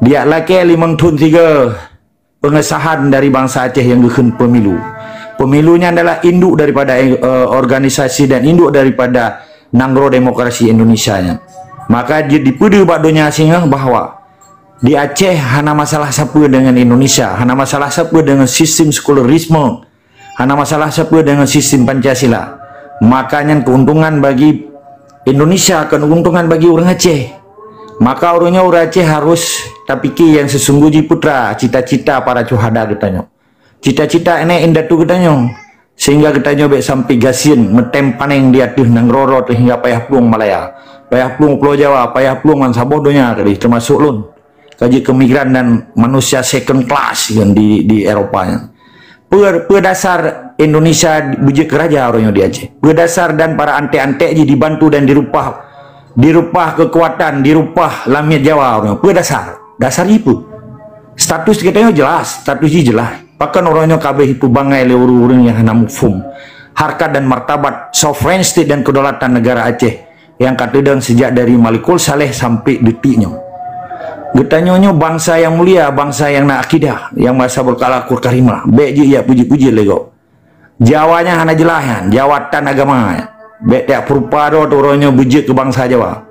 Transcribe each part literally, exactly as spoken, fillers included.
Diak lakée limong thon sigoe pengesahan dari bansa Aceh nyang geukheun pemilu. Pemilu nyan adalah induk daripada, eh, organisasi dan induk daripada nanggroe demokrasi Indonesia nyan. Maka di-, dipeudeuh bak donya singoh bahwa di Aceh hana masalah sapeue deungon Indonesia, hana masalah sapeue deungon sistem sekularisme, hana masalah sapeue deungon sistem Pancasila. Maka nyan keuntungan bagi Indonesia, kon keuntungan bagi ureuëng Aceh. Maka ureuëng nyoe ureuëng Aceh harus tapike nyang sesungguh jih putra cita-cita para syuhada geutanyoe. Cita-cita nenek indatu geutanyoe. Sehingga geutanyoe bék sampai gasien meutem paneng di ateueh nanggroe sehingga payah plueng Malaya, payah plueng Pulo Jawa, payah plueng ngon saboh donya tadi, termasuk lôn. Ka jeuet keu migran dan manusia second class kan di, di Eropa nyan. Peue, peue dasar Indonesia beujeuet keu raja uroe nyoe di Aceh? Peue dasar dan para antek-antek jih dibantu dan dirupah, dirupah kekuatan, dirupah lamiet Jawa uroe nyoe? Peue dasar? Dasar jih peue? Status geutanyoe jelas, status jih jelas. Pakon uroe nyoe ka abéh ipeubangai lé ureuëng-ureuëng nyang hana muphom harkat dan martabat sovereign state dan kedaulatan negara Aceh nyang ka teudong sejak dari Malikul Saleh sampai detik nyoe. Geutanyoe nyoe bansa nyang mulia, bansa nyang na akidah, nyang masa berkala Qur Karimah. Bék jeuet jak puji-puji lé gob. Jawa nyan hana jeulaih nyan, Jawa tan agama nyan. Bék tajak peurupa droe uroe nyoe beujeuet keu bansa Jawa.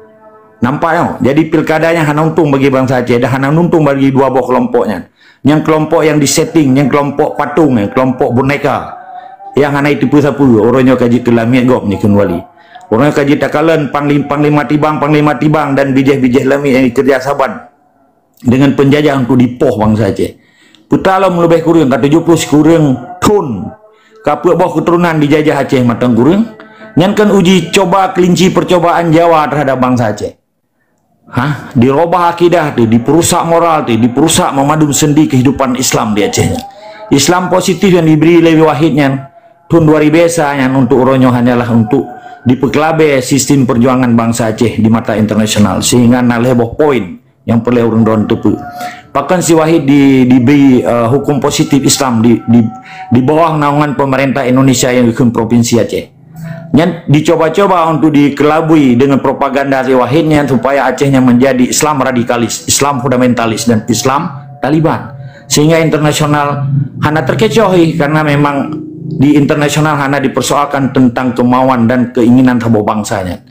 Nampak nyoe, jadi pilkada nyan hana untông bagi bansa Aceh dan hana untông bagi dua boh keulompok nyan. Nyang keulompok nyang disetting, nyang keulompok patong, nyang keulompok boneka. Nyang hana jiteupeue sapeue, uroe nyoe ka jeuet keu lamiet gob nyoe kheun wali. Uroe nyoe ka jeuet takalon panglim-, panglima tibang, panglima tibang dan bijéh-bijéh lamiet nyang dikeureuja saban deungon peunjajah untuk dipoh bansa Aceh. Peutalom leubeh kureueng ka tujoh ploh sikureueng thon ka peuet boh keuturonan dijajah Aceh mantong kureueng, nyan kan uji coba kelinci percobaan Jawa terhadap bansa Aceh. Hah? Dirobah akidah teuh, diperusak moral teuh, diperusak memadum sendi kehidupan Islam di Aceh nyan. Islam positif yang diberi lé Wahid nyan, thon dua ribu esa nyan untuk uroe nyoe hanyalah untuk dipeukelabée sistem perjuangan bansa Aceh di mata internasional, sehingga na lhée boh poin nyang peureulée ureuëng droe teupeue. Pakon si Wahid di, diberi, eh, hukum positif Islam di, di, di bawah naungan pemerintah Indonesia nyang geukheun Provinsi Aceh. Nyan dicoba-coba untuk dikelabui dengan propaganda si Wahid nyan supaya Aceh nyan menjadi Islam radikalis, Islam fundamentalis dan Islam Taliban. Sehingga internasional hana terkecoh ih, karena memang di internasional hana dipersoalkan tentang kemauan dan keinginan saboh bansa nyan.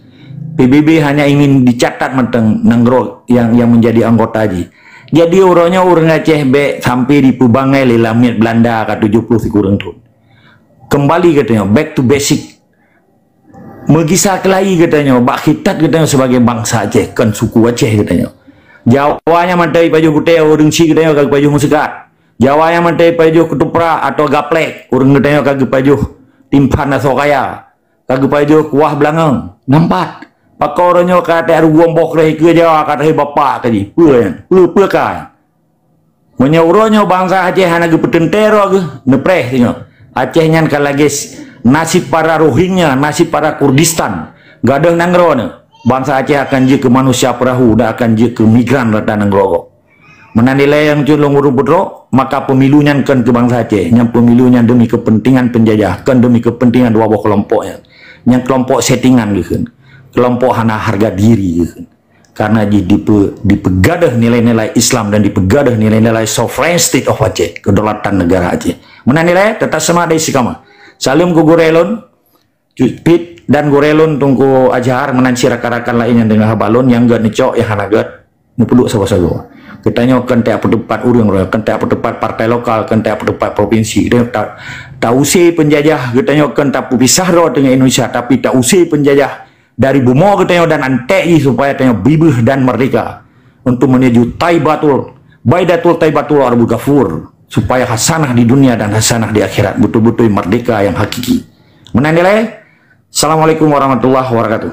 P B B hanya ingin dicatat mantong nanggroe yang, yang menjadi anggota jih. Jadi uroe nyoe ureuëng Aceh bék sampai dipeubangai lé lamiet Belanda ka tujoh ploh sikureueng thon. Kembali geutanyoe, back to basic. Meugisa keulayi geutanyoe, bak khitat geutanyoe sebagai bansa Aceh, kon suku Aceh geutanyoe. Jawa nyan mantong jipajoh gutée, ureuëng chik geutanyoe ka geupajoh meuseukat. Jawa nyan mantong jipajoh keutuprak atau gaplek, ureuëng geutanyoe ka geupajoh timphan asoe kaya, ka geupajoh kuah beulangong. Nampak? Pakon uroe nyoe ka tajak rugoe boh kreh ikeue Jawa ka trôh bapak ka jih. Peue nyan? Peue, peue ka nyan? Meunyoe uroe nyoe bansa Aceh hana geupeuteuntée droe geuh, neupreh singoh. Aceh nyan ka lagée s-, nasib para Rohingya, nasib para Kurdistan. Gadôh nanggroe nyoe, bansa Aceh akan jeuet keu manusia peurahô dan akan jeuet keu migran rata nanggroe gob. Meunan dilée nyang cut lôn ureuëng peutrok, maka pemilu nyan kon keu bansa Aceh. Nyang pemilu nyan demi kepentingan penjajah, kon demi kepentingan dua boh keulompok nyan. Nyang keulompok settingan geukheun. Keulompok hana harga diri geukheun. Karena jih dipe-, dipeugadôh nilai-nilai Islam dan dipeugadôh nilai-nilai sovereign state of Aceh, kedaulatan negara Aceh. Meunan dilée, teutap seumah dari sikama. Saleuem keu gurée lôn, Cut Pit dan gurée lôn Teungku Azhar meunan cit rakan-rakan laén nyang deungoe haba lôn nyang gét neucok nyang hana gét neupeuduek sagoe-sagoe. Geutanyoe kon tajak peuteupat ureuëng, kon tajak peuteupat partai lokal, kon tajak peuteupat provinsi. Geutanyoe ta-, ta-use peunjajah, geutanyoe kon tapeupisah droe teungoh Indonesia, tapi ta-use peunjajah dari bumoe geutanyoe dan antek jih supaya tanyoe bibeuh dan merdeka. Untuk menuju Taibatul, Baidatul Taibatul Arbul Ghafur, supaya hasanah di dunia dan hasanah di akhirat, betul-betul merdeka yang hakiki. Meunan dilée. Assalamualaikum warahmatullahi wabarakatuh.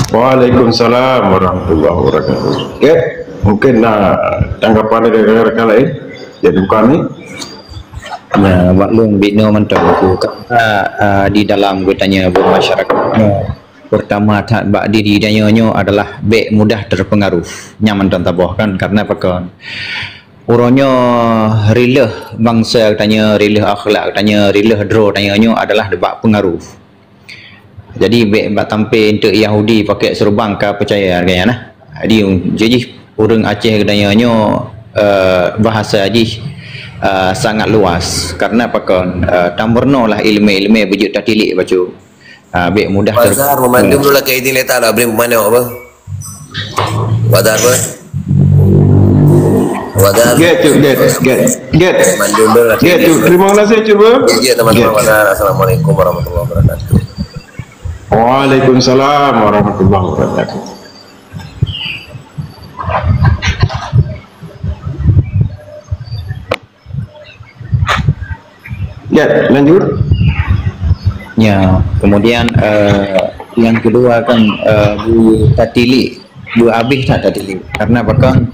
Waalaikumsalam warahmatullahi wabarakatuh. Okey, mungkin na tanggapan dari rakan-rakan lain. Jadi bukan ni. Ya, maklum binoe mantong tu. Karena uh, di dalam geutanyoe bermasyarakat, pertama that bak diri tanyoe nyoe adalah bék mudah terpengaruh. Nyan mantong taboh kan, karena pakon? Uroe nyoe rileuh bangsa tanyoe, rileuh akhlak tanyoe, rileuh droe tanyoe nyoe adalah dibak pengaruh. Jadi bék bak tampé enteuk Yahudi pakai seurubang ka peucaya lagée nyan nah. Jadi jih Ureuëng Aceh geutanyoe nyoe, eh, bahasa jih, eh, sangat luas. Karena pakon, eh, tameurunoe lah iéleumé-iéleumé beujeuet tatilik bacut. Ah, bék mudah ter- Bazar memandum dulu lah ke idin letak lah beri pemandu apa? Bazar apa? Bazar. Get, Cuk, get, get, get. Mandum dulu lah ke Get, idin. Cuk, terima kasih, Cuk, bro. Ya, ya, teman-teman. Get. Bazar. Assalamualaikum warahmatullahi wabarakatuh. Waalaikumsalam warahmatullahi wabarakatuh. Ya, lanjut. Ya, kemudian, eh, yang kedua kan, eh, bu tatilik, bu habéh that tatilik. Karena apa kan,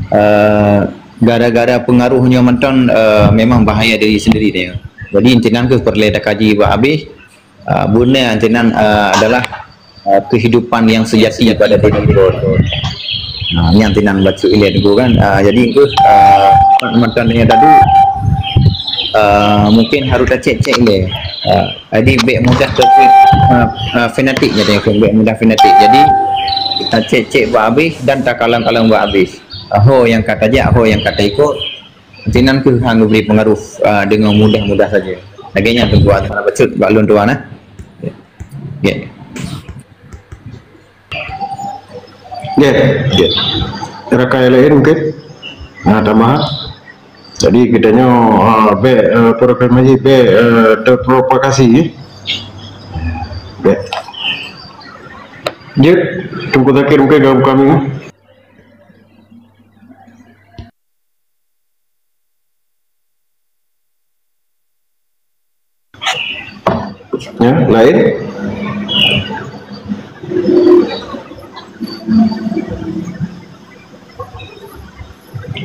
eh, gara-gara pengaruh nyoe mantong, eh, memang bahaya diri sendiri dia. Jadi intinan keuh peureulée takaji bu habéh, ah, beuna antinan, ah, adalah, ah, kehidupan yang sejati pada diri droe. Nah, nyan antinan bacut ilée teungku kan. Ah, jadi engku, ah, mantong nyoe tadi, ah, mungkin harus tacek-cek ilée. Ah, jadi bék mudah ter-, ah, ah, fanatik jadi engku, bék mudah fanatik. Jadi tacek-cek bak habéh dan takalon-kalon bak habéh. Ah, ho nyang ka tajak, ho nyang ka taikot, antinan keuh han geubri pengaruh, ah, deungon mudah-mudah saja. Lagée nyan teungku, hana bacut bak lôn tuan, eh. Ya. Ya. Ya. Rakan lain mungkin? Nah, tamah. Jadi geutanyoe, ah, bék, eh, program ini bék, eh, terprovokasi, ya. Bék. Jeuet, Teungku Zakir mungkin gabung kami. Ya, lain?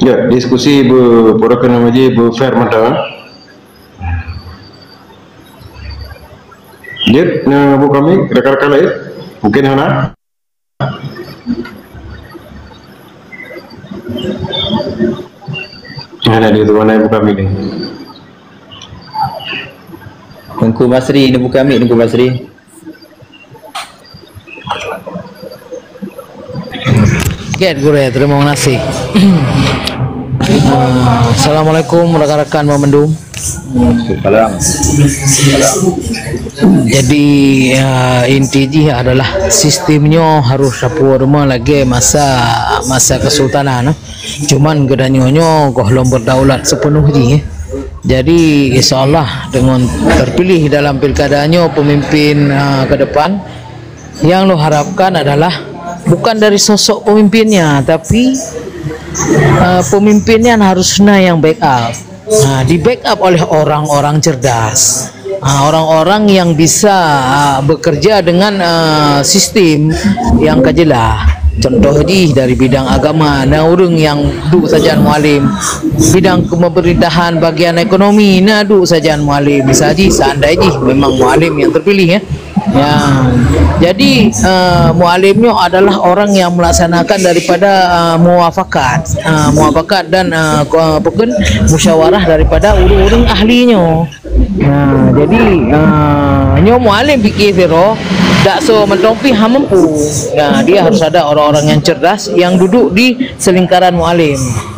Ya, diskusi be-, beureukan nama ji be-fair mata. Jeuet, na bu kami, rakan-rakan lain? Mungkin hana? Hana di tu, hana bu kami ni. Teungku Basri, ni bu kami, Teungku Basri. Get gurée, terima kasih. Ah, Assalamualaikum rakan-rakan mandum. Salam. Jadi, ah, inti jih adalah sistem nyoe harus sapeue rumoh lagée masa, masa kesultanan, eh. Cuman geutanyoe nyoe gohlom berdaulat sepenuh jih, eh. Jadi, insya Allah dengan terpilih dalam pilkada nyoe pemimpin, ah, ke depan, yang lo harapkan adalah bukan dari sosok pemimpinnya, tapi, eh, pemimpinnya harus na yang backup. Nah, di backup oleh orang-orang cerdas. Ah, orang-orang yang bisa, ah, bekerja dengan, ah, sistem yang ka jelas. Contoh jih dari bidang agama, na ureuëng yang duek sajan mualim. Bidang kepemerintahan, bagian ekonomi, na duek sajan mualim. Misal jih, seandai jih memang mualim yang terpilih, ya. Ya, jadi, eh, mualim nyoe adalah orang yang melaksanakan daripada, eh, muafakat, eh, muafakat dan, eh, ko-, apa kan, musyawarah daripada ureuëng-ureuëng ahli nyoe. Nah, jadi, eh, nyoe mualim fikir sidroe, dak so mantong pih han mampu. Nah, dia harus ada orang-orang yang cerdas yang duduk di selingkaran mualim.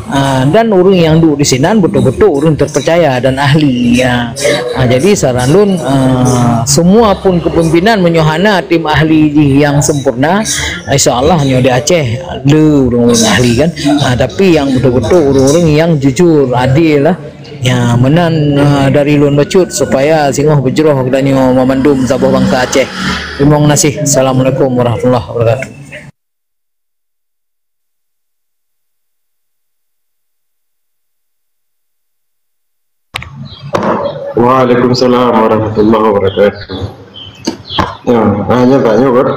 Ah, dan ureuëng nyang duek disinan beutôi-beutôi ureuëng terpercaya dan ahli, ya. Ah, jadi saran lôn, ah, semua pun kepemimpinan meunyoe hana tim ahli jih nyang sempurna, insya Allah nyoe di Aceh le ureuëng-ureuëng ahli kan. Ah, tapi nyang beutôi-beutôi ureuëng-ureuëng nyang jujur, adil lah. Ya, meunan, ah, dari lôn bacut supaya singoh beujroh geutanyoe mandum saboh bansa Aceh. Terima kasih. Assalamualaikum warahmatullahi wabarakatuh. Waalaikumsalam warahmatullahi wabarakatuh. Ya, hanya tanya kan.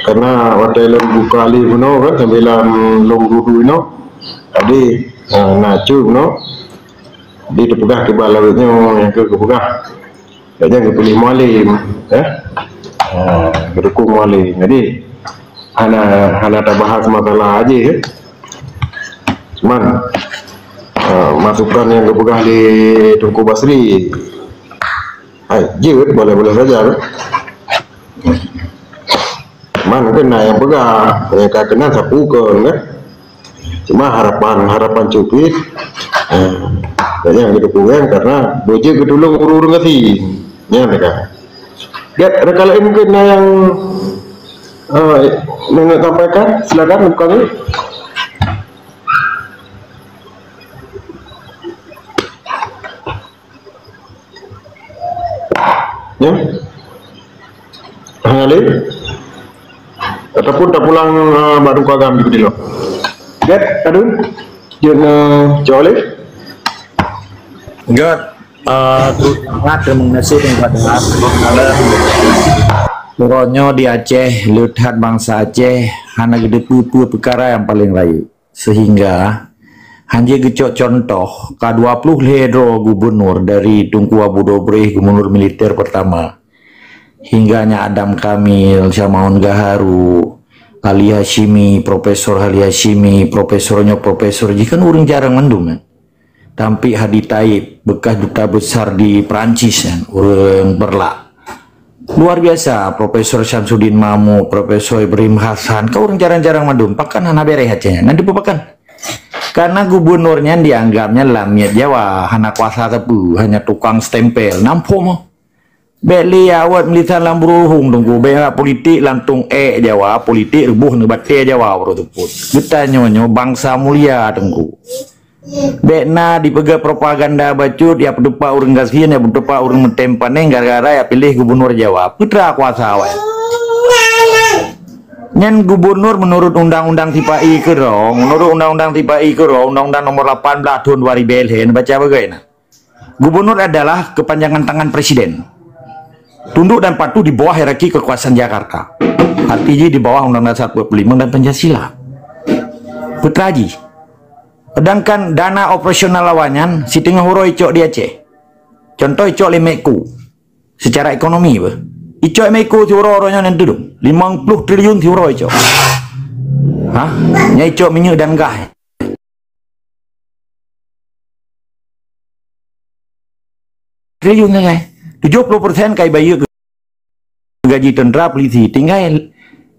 Karena watèe lôn buka live bunoe kan, sambilan lôn duek-duek inoe. Jadi, eh, na cut bunoe. Jadi, teupeugah kiban lawét nyoe nyang keu geupeugah. Lagèe nyan geupiléh mualim, eh? Ha, geudukong mualim. Jadi, hana, hana tabahas masalah jih, eh? Cuman, eh, masukan nyang geupeugah lé Teungku Basri, hai, jeuet, boleh-boleh saja, eh? Man keunan nyang peugah, nyang ka keunan sapeue kon, kan? Cuma harapan, harapan cut pih, eh, nyang geuteupeue karena beujeuet geutulông ureuëng-ureuëng gasien. Nyan teuka. Gét, ada kalon mungkin na nyang, eh, nak sampaikan, silakan, bukan ni. Ya. Hana lé? Ataupun tapulang, eh, bak Teungku Agam jih keudroe. Gét, Adun? Jeuet, eh, jaweueb lé? Gét, eh, tu sangat terima kasih Teungku Agam. Uroe nyoe di Aceh, le that bansa Aceh, hana geuteupeue peue peukara nyang paleng rayeuk. Sehingga, hanjeuet geucok contoh, ka dua ploh lhée droe gubunur dari Teungku Abu Dobreh, gubunur militer pertama, hingga Nyak Adam Kamil, Syamaun Gaharu, Ali Hasyimi, Profesor Ali Hasyimi, profesor nyoe, profesor jih kan ureuëng jarang mandum, kan? Tampik Hadi Taib, bekas duta besar di Perancis, kan? Ureuëng Berlak. Luar biasa, Profesor Syamsuddin Mahmud, Profesor Ibrahim Hasan, ka ureuëng jarang-jarang mandum, pakon hana béreh Aceh nyan, nan dipeue pakon? Karena gubunur nyan dianggap nyan lamiet Jawa, hana kuasa sapeue, hanya tukang stempel, nampôh meuh. Bék lé awot meulisan lam buruhong Teungku, bék politik lam tông ék Jawa, politik reuboh neubatée Jawa uroe teupôt. Geutanyoe nyoe bansa mulia Teungku. Bék na dipeugah propaganda bacut, ya peutupat ureuëng gasien, ya peutupat ureuëng meutem panéh gara-gara ya piléh gubunur Jawa. Peutra kuasa awai. Nyan gubunur menurut undang-undang sipa-i keudroe, menurut undang-undang sipa-i keudroe, undang-undang nomor lapan belas tahun dua ribu lhée, baca bagai na. Gubunur adalah kepanjangan tangan presiden. Tunduk dan patuh di bawah hierarki kekuasaan Jakarta. Arti jih di bawah Undang-Undang seratus empat puluh lima dan Pancasila. Peutra jih. Sedangkan dana operasional awaknyan siteungoh uroe icok di Aceh. Contoh icok lé Medco. Secara ekonomi beh. Icok Medco siuroe-uroe nyan tudong. Limong ploh triliun siuroe icok. Ha? Nya icok minyeuk dan gas. Triliun sagai. Tujoh ploh persen kai bayeue gaji tentara, polisi. Tinggai,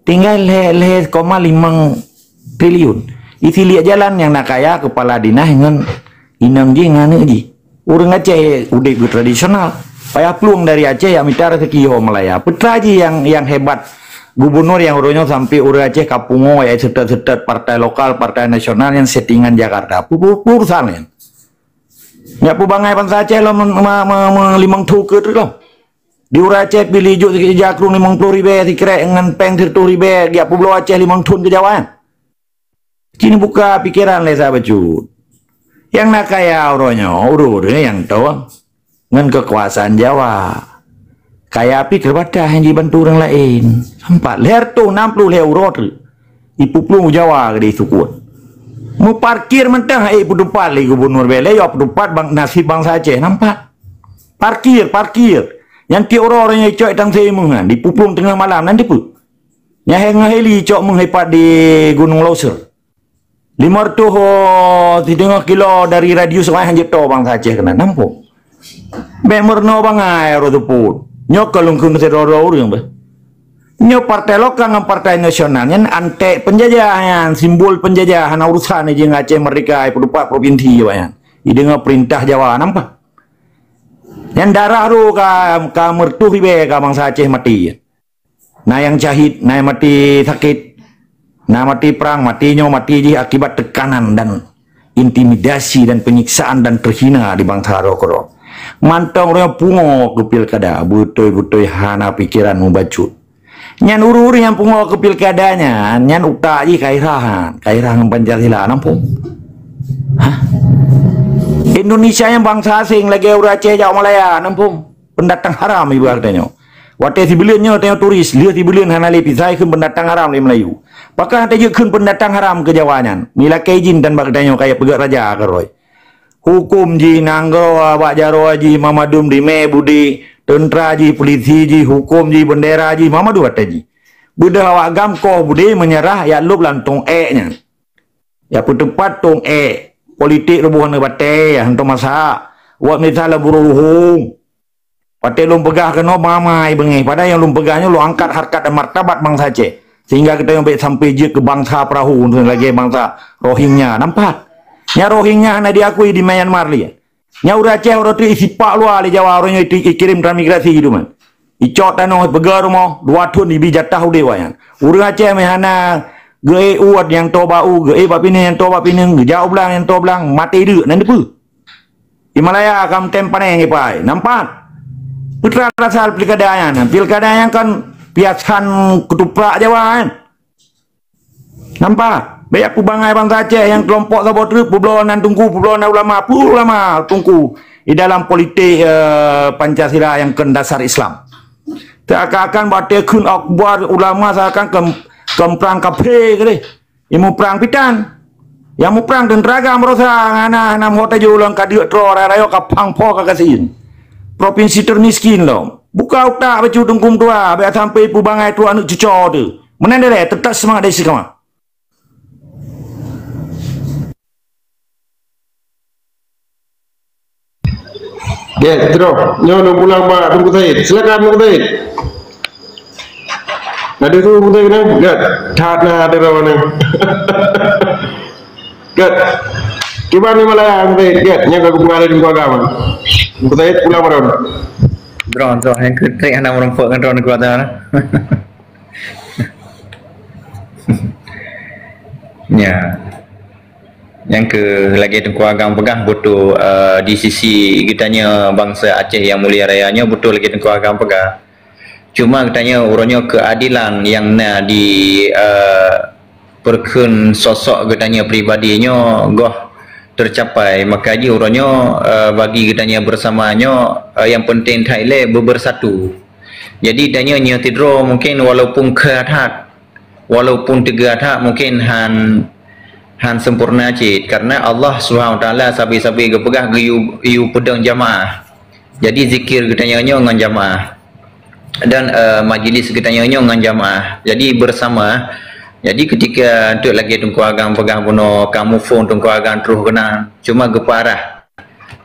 tinggai lhée, lhée koma limong triliun. Isi liek jalan nyang na kaya kepala dinas ngon inong jih ngon aneuk jih. Ureuëng Aceh udeb tradisional. Payah plueng dari Aceh ya mita rezeki ho Malaya. Peutra jih yang, yang hebat gubunur yang uroe nyoe sampai ureuëng Aceh ka pungo ya setet-setet partai lokal, partai nasional yang settingan Jakarta. Pu-, pu-, pu-, urusan nyan. Nyak peubangai bansa Aceh lom me-, me-, me-, me-, limong thu keut lom. Di ureuëng Aceh pih lijok sikrék jakrong limong ploh ribée, sikrék ngon péng siratoh ribée, jak peubloe Aceh limong thon keu Jawa nyan. Cit neubuka pikeran lé sahabat cut. Nyang na kaya uroe nyoe, ureuëng-ureuëng nyang toe ngon keukuasaan Jawa. Kaya pih teubatas nyang jibantu ureuëng laén. Sampat lhée reutôh nam ploh lhée uroe treuk. Ipeuplueng u Jawa keudeh sukon. Meuparkir mantong, eh, peuteupat lé gubunur Bélé, ya peuteupat bang, nasib bansa Aceh nampak. Parkir, parkir. Nyang tiep uroe ureuëng nyang icok tang seumeungan, dipeuplueng teungoh malam, nan dipeue? Nyang he-, ngon heli icok meuhepat di Gunung Loser. Lima reutôh, oh, siteungoh kilo dari radius awai hanjeuet toe bansa Aceh keunan. Nampôh. Bék meurunoe bangai uroe teupôt. Nyoe ka lôn kheun sidroe-droe ureuëng beh. Nyoe partai lokal ngon partai nasional nyan antek peunjajah nyan, simbol peunjajah, hana urusan jih ngon Aceh Merdeka, peuteupat provinsi awak nyan. Ideungoe peurintah Jawa nampak. Nyan darah tu ka, ka meureutôh ribée ka bansa Aceh maté. Na nyang syahid, na nyang maté sakét, na maté prang, maté nyoe, maté jih akibat tekanan dan intimidasi dan penyiksaan dan terhina di bansa droe keudroe. Mantong ureuëng pungo keu pilkada, beutôi-beutôi hana pikeran mubacut. Nyan ureuëng-ureuëng nyang pungo keu pilkada nyan, nyan utak jih kairah, kairah ngon Pancasila, nampôh. Hah? Indonesia nyan bansa asing lagée ureuëng Aceh jak Malaya, nampôh. Pendatang haram ibu geutanyoe. Watée sibuleuen nyoe tanyoe turis, lheueh sibuleuen hana lé pisai kheun pendatang haram lé Melayu. Pakon hana jeuet kheun pendatang haram keu Jawa nyan? Meulakée idin tan bak geutanyoe kaya peugét raja keurôi. Huköm jih, nanggroe bak jaroe jih, mamadum dimé budé, teuntra jih, pulisi jih, huköm jih, beundera jih, mamadum watée jih. Beudôh awak GAM koh budé meunyeurah jak lôb lam tông ék nyan. Jak peuteupat tông ék, politik reuboh neubatée, hantom masak. Wak mita lam buruh luhong. Watée lôn peugah keunoe mamai beungéh, padahai nyang lôn peugah nyoe lôn angkat harkat dan martabat bansa Aceh. Sehingga geutanyoe bék sampai jeuet keu bansa perahu lagée bansa Rohingya. Nampak? Nyan Rohingya hana diakui di Myanmar lé. Nyan ureuëng Aceh uroe teuk isipak luwa lé Jawa, uroe nyoe ikirém transmigrasi itu man. Icok tanoh, peugah rumoh, dua thon ibi jatah udeb awaknyan. Ureuëng Aceh meuhana geuék uet nyang toe bak u, geuék bak pineung nyang toe bak pineung, geujak u blang nyang toe blang, maté deuk nan dipeue. Di Malaya kam tem paneng ipai. Nampak? Putra rasa pilkada nyan. Pilkada nyan kan piasan ketupat Jawa kan. Nampak? Banyak peubangai bansa Aceh yang kelompok saboh treuk, peubloe nan tungku, peubloe nan ulama, peue ulama tungku di dalam politik eh, Pancasila yang kön dasar Islam. Seakan-akan bak tekun akbar ulama seakan kem, kemprang kafe ke deh. Yang muprang pitan. Yang muprang tentara gampang berosa ngana hana meuhot tajok lom ka deuk troe raya ka pang po ka kasin. Provinsi termiskin lom. Buka utak bacut tungkum tua, biar sampai peubangai trok aneuk cuco tu. Meunan deh, tetap semangat dari sikama. Ya, terus. Nyoe lôn pulang bak Teungku Said. Silakan Teungku Said. Ada tu Teungku Said kan? Gak. That na ada rawan ni. Gak. Cuba ni malah Teungku Said. Gak. Nyoe aku pengaruh Teungku Agam. Teungku Said pulang baru. Drone tu yang kutrik hana merumpok dengan drone kuat dah. Ya. Nyang keu lagée Teungku Agam peugah beutôi, eh, di sisi geutanyoe bansa Aceh nyang mulia raya nyoe beutôi lagée Teungku Agam peugah. Cuma geutanyoe uroe nyoe keuadilan nyang na di, eh, peurkheun sosok geutanyoe pribadi nyoe goh teucapai. Maka jih uroe nyoe, eh, bagi geutanyoe bersama nyoe, eh, nyang penting that ilée beubersatu. Jadi tanyoe nyoe tidroe mungkin walaupun kha that, walaupun teuga that mungkin han, han sempurna cit, karena Allah Subhanahu Wa Taala sabe-sabe geupeugah geuyue, yue peudong jamaah. Jadi zikir geutanyoe nyoe ngon jamaah dan, eh, majlis geutanyoe nyoe ngon jamaah. Jadi bersama. Jadi ketika enteuk lagée Teungku Agam peugah bunoe kamoe phon Teungku Agam troh keunan, cuma geupeurah.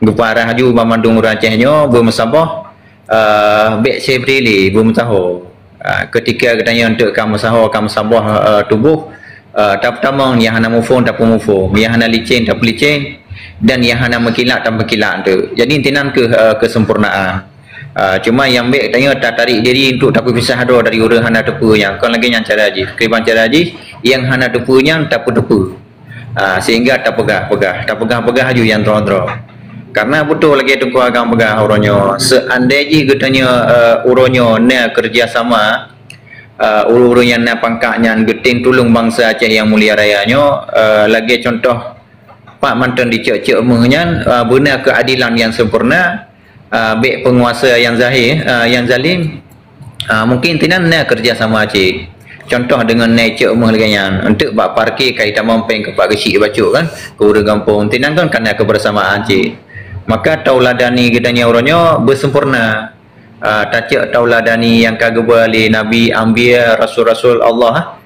Geupeurah laju banmandum ureuëng Aceh nyoe beumeusaboh, eh, bék seubri lé beumeusaho. Ah, ketika geutanyoe enteuk ka meusaho, ka meusaboh, eh, tuboh, eh, tapeutamong nyang hana muphom tapeumuphom, nyang hana licén tapeulicén, dan nyang hana meukilat tapeukilak enteuk. Jadi, intinan keuh, eh, keusempurnaan. Ah, cuma nyang bék tanyoe tatarék diri untuk tapeupisah droe dari ureuëng hana teupeue nyan. Kon lagée nyan cara jih. Keuiban cara jih, nyang hana teupeue nyan tapeuteupeue. Ah, sehingga tapeugah-peugah, tapeugah-peugah laju nyang droe-droe. Karena beutôi lagée Teungku Agam peugah uroe nyoe, seandai jih geutanyoe, eh, uroe nyoe na kerjasama, eh, ureuëng-ureuëng nyang na pangkat nyan geutem tulông bansa Aceh nyang mulia raya nyoe, eh, lagée contoh pat mantong dicok-cok meuh nyan, eh, beuna keuadilan nyang sempurna, ah, bék peunguasa nyang zahé, ah, nyang zalim, ah, mungkin tinan na kerjasama cit. Contoh deungon na icok meuh lagée nyan, enteuk bak parkir ka itamong péng keupak geusyik bacut kan, keu ureuëng gampông, tinan kan ka na kebersamaan cit. Maka tauladani geutanyoe uroe nyoe beusempurna. Ah, tacok tauladani nyang ka geuba lé nabi, anbiya, rasul-rasul Allah.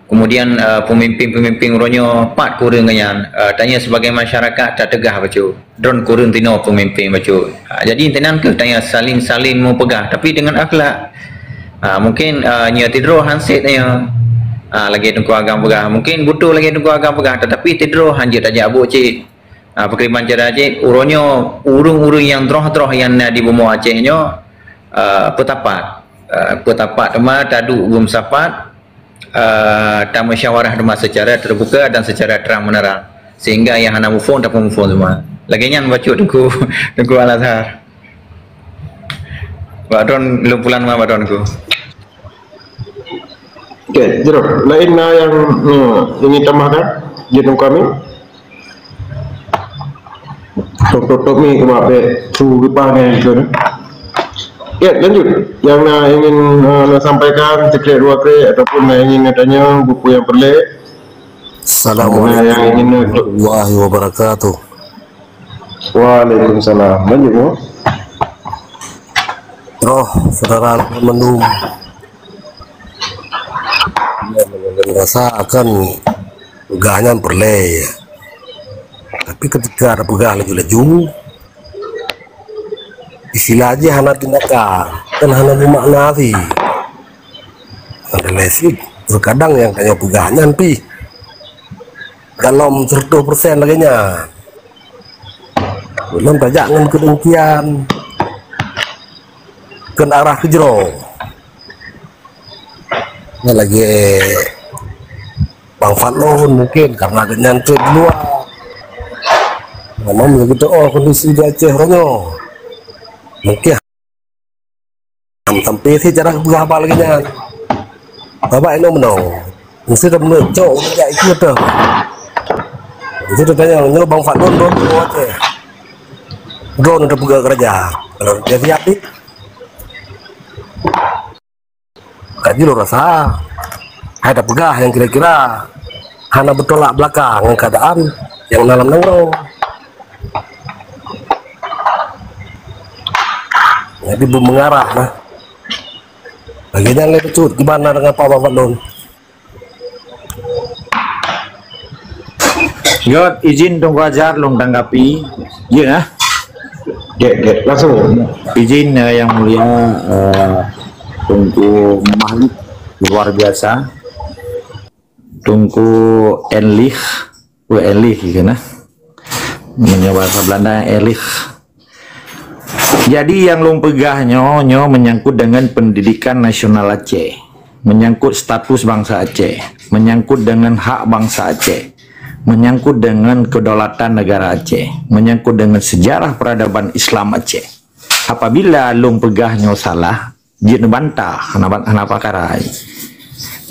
Kemudian, eh, peumimpin-peumimpin uroe nyoe pat kureueng nyan, eh, tanyoe sibagai masyarakat tateugah bacut. Droen kureueng tinoe peumimpin bacut. Ah, jadi, intinan keuh tanyoe saling-saling meupeugah, tapi deungon akhlak. Ah, mungkin, eh, nyoe tidroe han sép tanyoe. Ah, lagée Teungku Agam peugah. Mungkin beutôi lagée Teungku Agam peugah, tetapi tidroe han jeuet tajak buet cit. Ah, pakriban cara jih, uroe nyoe ureuëng-ureuëng nyang droh-droh nyang na di bumoe Aceh nyoe, ah, peutapat. Ah, peutapat teuma taduek beumeusapat, eh, tamusyawarah teuma secara terbuka dan secara terang-menerang, sehingga nyang hana muphom tapeumuphom teuma. Lagée nyan bacut Teungku, Teungku Al-Azhar. Bak droen lôn pulang teuma bak droen Teungku. Okey, jroh. Laén na nyang, eh, ingin tambahkan? Jeuet Teungku Amin. Tutup-tutup ni keumat bek su geupa ngai keu. Ya, lanjut. Yang na ingin, eh, na sampaikan, siklik dua klik ataupun na ingin na tanya buku yang perlek. Assalamualaikum yang ingin na warahmatullahi wabarakatuh. Waalaikumsalam. Lanjut, Mu. Roh saudara mandum. Rasa akan peugah nyan peureulée. Tapi ketika ada peugah laju-laju, istilah jih hana tindakan, kan hana bermakna sih. Ada lesik. Terkadang nyang tanyoe peugah nyan pih galom seratus persen lagée nyan. Ulôn tajak ngon keudengkian keu arah keujroe. Nyan lagée Bang Fadlon mungkin karena geuhnyan treb di luwa. Memang begitu, oh, kondisi di Aceh uroe nyoe. Mungkin Am sampai si cara geupeugah haba lagée nyan. Haba inoe meunoe. Meusti tameunyoe cok jak ikeu teuh. Meusti tatanyong nyoe Bang Fadlon droe droe teuh. Droe teuh peugah keuraja. Kalau dia siap ni. Kaji lo rasa. Hai tapeugah nyang kira-kira hana beutolak beulakang ngon keuadaan nyang na lam nanggroe. Jadi beumeungarah nah. Lagée nyan lé bacut, gimana dengan Pak Bang Fadlon? Gét, izin Teungku Azhar lôn tanggapi. Ya, nah. Gét, gét, langsung. Izin, eh, Yang Mulia, eh, Teungku Mahlik, luar biasa. Teungku Enlih, oh, Enlih gitu nah. Meunyoe bahasa Belanda, Enlih. Jadi nyang lôn peugah nyoe, nyoe menyangkut dengan pendidikan nasional Aceh, menyangkut status bangsa Aceh, menyangkut dengan hak bangsa Aceh, menyangkut dengan kedaulatan negara Aceh, menyangkut dengan sejarah peradaban Islam Aceh. Apabila lôn peugah nyoe salah, jeuet neubantah, hana ba-, hana pakarai.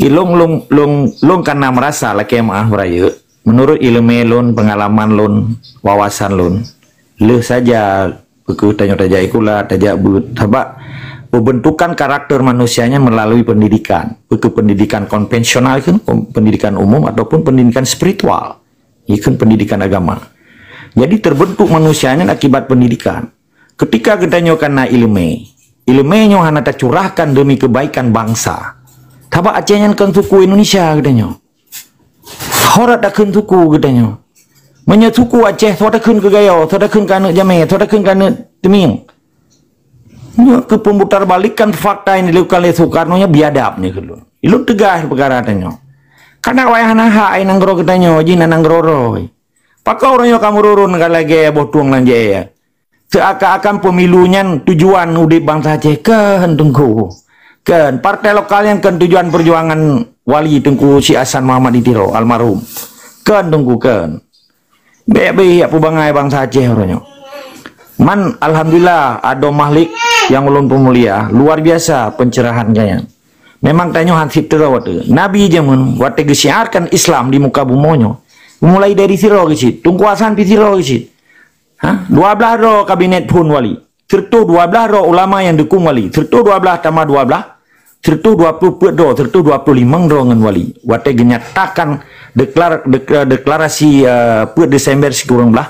Ilôn, lôn, lôn, lôn kana meurasa lakée meu'ah beurayeuk, menurut iéleumé lôn, peungalaman lôn, wawasan lôn, lheueh saja peu kheueh tanyoe tajak sikula, tajak beuet. Sabab peubeuntukan karakter manusia nyan meulalu pendidikan. Peu kheueh pendidikan konvensional kheun, pendidikan umum ataupun pendidikan spiritual. Ikheun pendidikan agama. Jadi terbentuk manusia nyan akibat pendidikan. Ketika geutanyoe kana iéleumé, iéleumé nyoe hana tacurahkan demi kebaikan bangsa. Sabab Aceh nyan kon suku Indonesia geutanyoe. Ho dak takheun suku geutanyoe. Meunyoe suku Aceh, soe takheun keu Gayo, soe takheun keu aneuk Jamé, soe takheun keu aneuk Teumieng. Nyoe keu peumutarbalikan fakta nyang dilakukan lé Soekarno nyoe biadab nyoe keu lôn. Lôn tegas peukara tanyoe. Kana wayah hana hak ai nanggroe geutanyoe jih na nanggroe roh. Pakon uroe nyoe kamoe rurun ka lagée boh tueng lam jée. Seakan-akan pemilu nyan tujuan udeb bansa Aceh, kon Teungku. Kon partai lokal nyan kon tujuan perjuangan Wali Teungku Syik Hasan Muhammad di Tiro almarhum. Kon Teungku, kon. Bék-bék jak peubangai bansa Aceh uroe nyoe. Man, alhamdulillah, adoe Mahlik nyang ulôn peumulia, luar biasa pencerahan geuhnyan. Memang tanyoe han seb teuroe watée. Nabi jameun watée geusyiarkan Islam di muka bumoe nyoe, mulai dari sidroe geucit, Teungku Hasan pih sidroe geucit. Ha? Dua blaih droe kabinet phon wali. Sireutoh dua blaih droe ulama nyang dukung wali. Sireutoh dua blaih tamah dua blaih. Sireutoh dua ploh peuet droe, sireutoh dua ploh limong droe ngon wali. Watée geunyatakan deklar-, dekla-, deklarasi, eh, peuet Desember sikureueng blaih,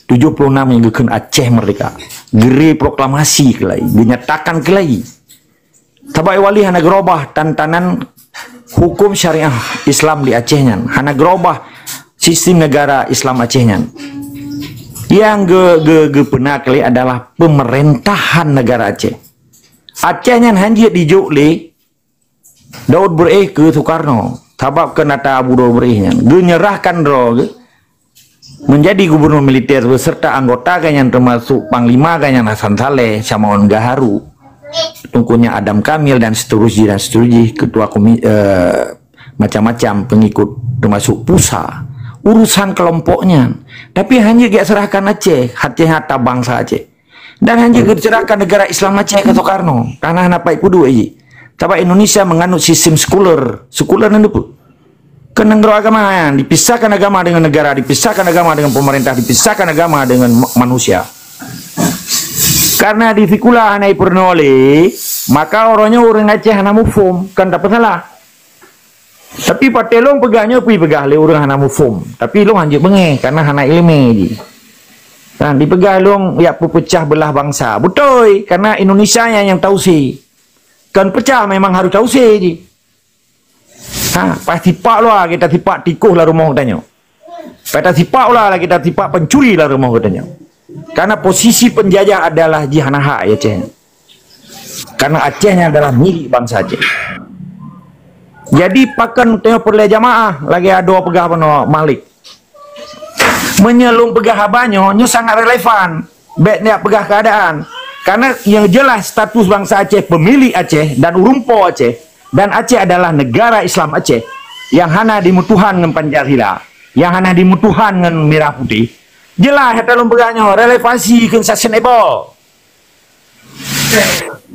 tujoh ploh nam nyang geukheun Aceh merdeka. Geureuproklamasi keulai, geunyatakan keulai. Sabab wali hana geurobah tantanan hukum syariah Islam di Aceh nyan, hana geurobah sistem negara Islam Aceh nyan. Nyang ge-, ge-, geupeuna keulai adalah peumeurintahan negara Aceh. Aceh nyan hanjeuet dijok lé Daud Beureueh keu Soekarno, sabab keu nata Abu Daud Beureueh nyan geunyerahkan droe geuh menjadi gubernur militer beserta anggota geuhnyan termasuk panglima geuhnyan Hasan Saleh, Syamaun Gaharu, Teungku nyan Adam Kamil dan seterusnya dan seterusnya, ketua komi-, eh, macam-macam pengikut termasuk pusa urusan kelompok nyan. Tapi hanjeuet geuserahkan Aceh, Aceh hata bansa Aceh. Dan hanjeuet geuserahkan negara Islam Aceh keu Soekarno, karena hana pai peuduek jih. Sabab Indonesia menganut sistem sekuler. Sekuler nyan peue? Keu nanggroe agama, dipisahkan agama dengan negara, dipisahkan agama dengan pemerintah, dipisahkan agama dengan ma-, manusia. Karena di sikula hana ipeurunoe lé, maka uroe nyoe ureuëng Aceh hana muphom, kon tapeusalah. Tapi patéh lôn peugah nyoe pih peugah lé ureuëng hana muphom. Tapi lôn hanjeuet beungéh, karena hana iéleumé jih. Kan dipeugah lôn jak peupeucah beulah bansa. Beutôi, karena Indonesia nyang, nyang tausé. Kon peucah memang harôh tausé jih. Ha, pasti pak luwa kita sipak tikoh lam rumoh geutanyoe. Pasti pak luwa kita sipak pencuri lam rumoh geutanyoe. Karena posisi penjajah adalah jih hana hak Aceh. Karena Aceh nyan adalah milik bansa Aceh. Jadi pakon tanyoe peureulée jamaah lagée adoe peugah bunoe Malik. Meunyoe lôn peugah haba nyoe, nyoe sangat relevan. Bék neujak peugah keuadaan. Karena nyang jeulaih status bansa Aceh, peumilék Aceh dan ureuëng po Aceh, dan Aceh adalah negara Islam Aceh nyang hana jimeutuhan ngon Pancasila, nyang hana jimeutuhan ngon mirah putéh. Jeulaih ata lôn peugah nyoe relevansi keu sasien ebo.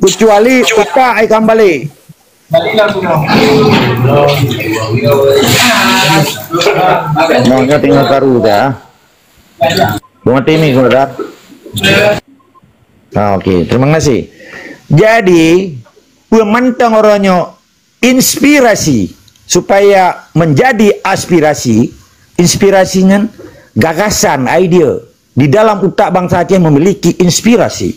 Keucuali utak ai kambali. Nyoe, nyoe tinggal karu dah. Bunga timi sebentar. Ah, okey, terima kasih. Jadi, peumantong uroe nyoe inspirasi supaya menjadi aspirasi, inspirasi nyan gagasan, idea. Di dalam utak bansa Aceh memiliki inspirasi.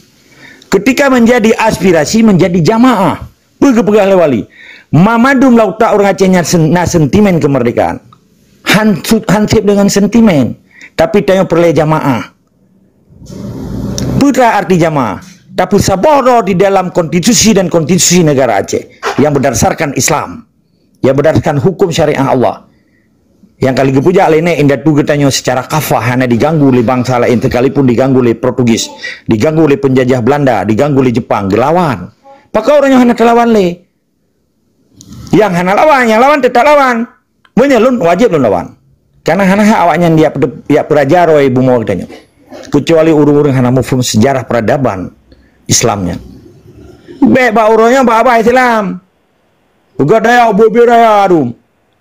Ketika menjadi aspirasi, menjadi jamaah. Peue geupeugah lé wali? Mamandum lam utak ureuëng Aceh nyan sen-, na sentimen kemerdekaan. Han-, hansip dengan sentimen. Tapi tanyoe peureulée jamaah. Peue arti jamaah? Tapeusaboh droe di dalam konstitusi dan konstitusi negara Aceh yang berdasarkan Islam, yang berdasarkan hukum syariah Allah. Nyang ka lheueh geupeujak lé nèk indatu geutanyoe secara kafah hana diganggu lé bansa laén, sekalipun diganggu lé Portugis, diganggu lé penjajah Belanda, diganggu lé Jepang, geulawan. Pakon ureuëng nyoe hana teulawan lé? Nyang hana lawan, nyang lawan teutap lawan. Meunyoe lôn, wajéb lôn lawan. Karena hana hak awaknyan jak peude-, jak peuraja droe bumoe geutanyoe. Keucuali ureuëng-ureuëng hana muphom sejarah peradaban Islam nyan. Bék bak uroe nyoe bak abah Islam. Peugah daya ubé-ubé raya dum.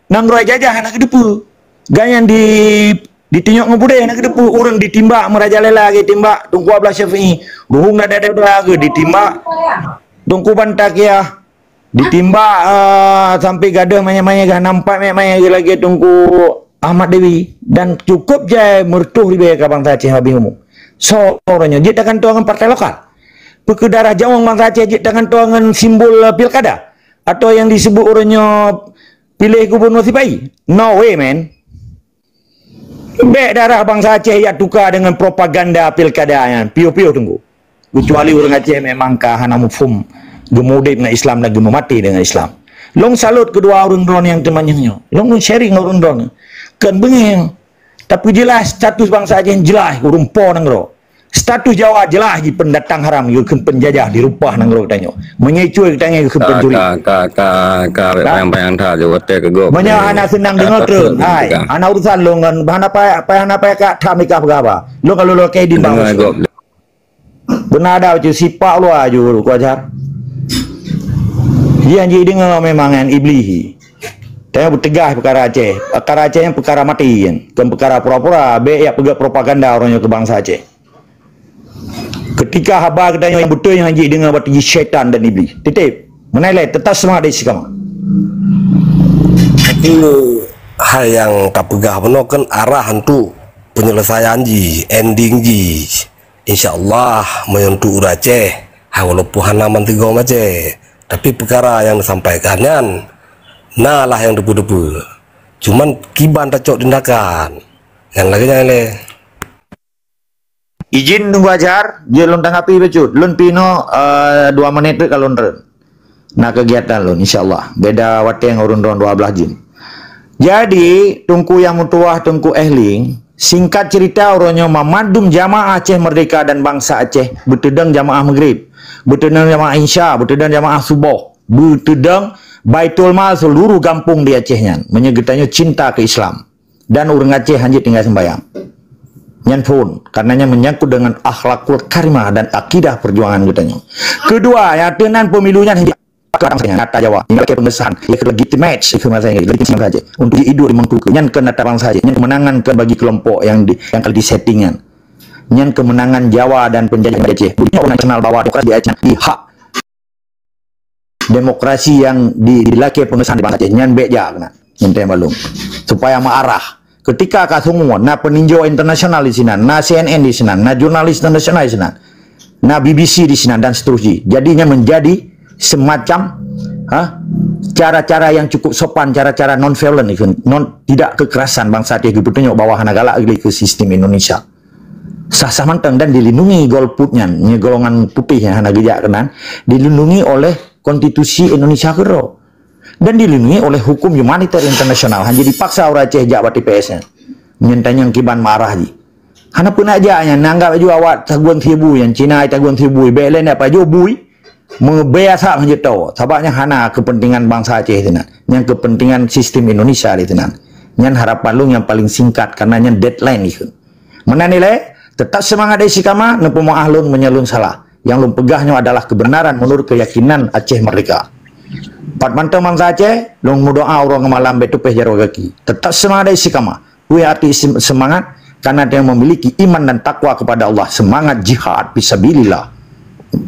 Nanggroe jajah hana geuteupeue. Gobnyan di, ditunyok ngon beudé hana geuteupeue. Ureuëng ditimbak meurajalela geutimbak Teungku Abdullah Syafi'i. Ruhung dada-dada geu ditimbak Teungku Bantaqiah. Ditimbak, ah, sampai gadôh manyét-manyét geu hana meupat manyét-manyét geu lagée Teungku Ahmad Dewi. Dan cukup jai meureutoh ribée ka bansa Aceh habéh umu. Soe uroe nyoe jeuet tagantoe ngon partai lokal? Peu keu darah jaweueng bansa Aceh jeuet tagantoe ngon simbol, ah, pilkada? Atau nyang disebut uroe nyoe piléh gubunur sipai? No way, man. Bék darah bansa Aceh jak tuka deungon propaganda pilkada nyan. Piôh-piôh teungku. Keucuali ureuëng Aceh memang ka hana muphom geumudeb ngon Islam dan geumeumaté deungon Islam. Lôn salut keudua ureuëng droeneuh nyang teumanyong nyoe. Lôn sharing ngon ureuëng droeneuh. Kon beungéh. Tapi jeulaih status bansa Aceh jeulaih ureuëng po nanggroe. Status Jawa jeulaih jih pendatang haram, geukheun penjajah di reupah nanggroe geutanyoe. Meunyoe icue geutanyoe geukheun pencuri. Ka, ka, ka, ka, ka, ka. Bayang-bayang that, jaweueb watée keu gob. Meunyoe hana seunang deungoe treun, hai. Hana urusan lôn ngon, hana payah, payah, hana payah ka that mika peugah haba. Lôn ka lôn lakée idin bang. Deungoe gob. Beuna ada bacut sipak luwa ju ku ajar. Jih jih deungoe memang nyan Iblih. Tanyoe beuteugah peukara Aceh. Peukara Aceh nyan peukara maté nyan. Kon peukara pura-pura, bék jak peugah propaganda uroe nyoe keu bansa Aceh. Keutika haba geutanyoe nyang beutôi nyan jih deungoe bak teujih syaitan dan Iblih. Titip. Meunan lé, teutap seumangat di sikama. Tapi hai nyang tapeugah bunoe kan arah untuk penyelesaian jih, ending jih. Insya Allah, meunyoe untuk ureuëng Aceh, hai walaupun hana mantong gom Aceh, tapi peukara nyang disampaikan nyan na lah nyang teupeu-teupeu. Cuman kiban tacok tindakan. Nyan lagée nyan lé. Izin Teungku Azhar, jeuet lôn tanggapi bacut. Lôn pih inoe, eh, dua menit teuk ka lôn treun. Na keugiatan lôn, insya Allah. Beda watée ngon ureuëng droen dua blaih jeuem. Jadi, Teungku Yang Meutuwah, Teungku Ehling, singkat cerita, uroe nyoe mamandum jamaah Aceh Merdeka dan bansa Aceh beuteudong jamaah Maghrib, beuteudong jamaah Isya, beuteudong jamaah Suboh, beuteudong Baitul Mal seuluruh gampông di Aceh nyan. Meunyoe geutanyoe cinta keu Islam. Dan ureuëng Aceh hanjeuet tinggai seumbayang. Nyan phon, karena nyan menyangkut dengan akhlakul karimah dan akidah perjuangan geutanyoe. Kedua, nyang teunan pemilu nyan hanjeuet kata Jawa. Tinggai ke pengesahan, ya ke legitimate, ya ke masa ini, legitimate saja. Untuk diidu di mangkuke, nyan ke nata bangsa saja. Nyan kemenangan ke bagi kelompok yang di, yang kali disettingan. Nyan kemenangan Jawa dan penjajah Aceh. Bukan nasional bahwa demokrasi di Aceh, di hak demokrasi yang di, dilakée pengesahan di bansa Aceh nyan bék jak keunan. Nyan teuh balum. Supaya meuarah. Ketika ka semua, na peninjau internasional di sinan, na C N N di sinan, na jurnalis internasional di sinan, na B B C di sinan, dan seterusnya. Jadinya menjadi semacam, ha, cara-cara yang cukup sopan, cara-cara non-violent, non, tidak kekerasan bansa Aceh geupeutanyok bahwa hana galak lé ke sistem Indonesia. Sah-sah mantong dan dilindungi golput nyan, nyoe golongan putih nyang hana geujak keunan, dilindungi oleh konstitusi Indonesia keudroe. Dan dilindungi oleh hukum humaniter internasional. Hana jipaksa ureuëng Aceh jak bak T P S nyan. Nyan tanyong kiban marah jih. Hana peunak jak nyan, neuanggap laju awak tagun sibu nyan, Cina tagun sibu, bèk lé ndak pajoh bui, meubèe asap hanjeuet tawoe. Sabab nyan hana keupeuntengan bansa Aceh sinan. Nyan keupeuntengan sistem Indonesia di sinan. Nyan harapan lôn nyang paleng singkat, karena nyan deadline ikheun. Meunan ilèe, teutap seumangat dan istiqamah, neupeumeu'ah lôn meunyoe lôn salah. Nyang lôn peugah nyoe adalah keubeunaran meunurot keuyakinan Aceh Merdeka. Pat mantong bansa Aceh, lôn meudoa uroe ngon malam bèk tupéh jaroe gaki. Teutap seumangat dan istiqamah. Peue arti istim-, seumangat? Karena dia memiliki iman dan takwa kepada Allah, seumangat jihad fisabilillah.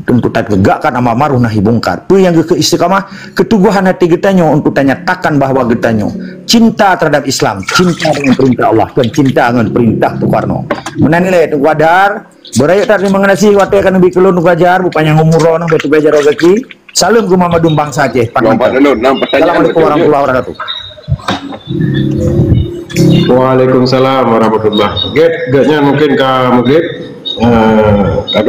Untuk tategakkan amar ma'ruf nahi mungkar. Peue nyang geukheun istiqamah? Keuteguhan hati geutanyoe untuk tanyatakan bahwa geutanyoe cinta terhadap Islam, cinta dengan perintah Allah, dan cinta dengan perintah Soekarno. Meunan ilèe Teungku Azhar, beurayeuk that teurimong gaséh watèe ka neubi keu lôn Teungku Azhar, beupanyang umur droeneuh, beutôi jaroe gaki. Saleuem keu mandum bansa Aceh, pat mantong. Assalamualaikum warahmatullahi wabarakatuh. Waalaikumsalam warahmatullahi. Gét, gét nyan mungkin ka meugrib. Eh, ka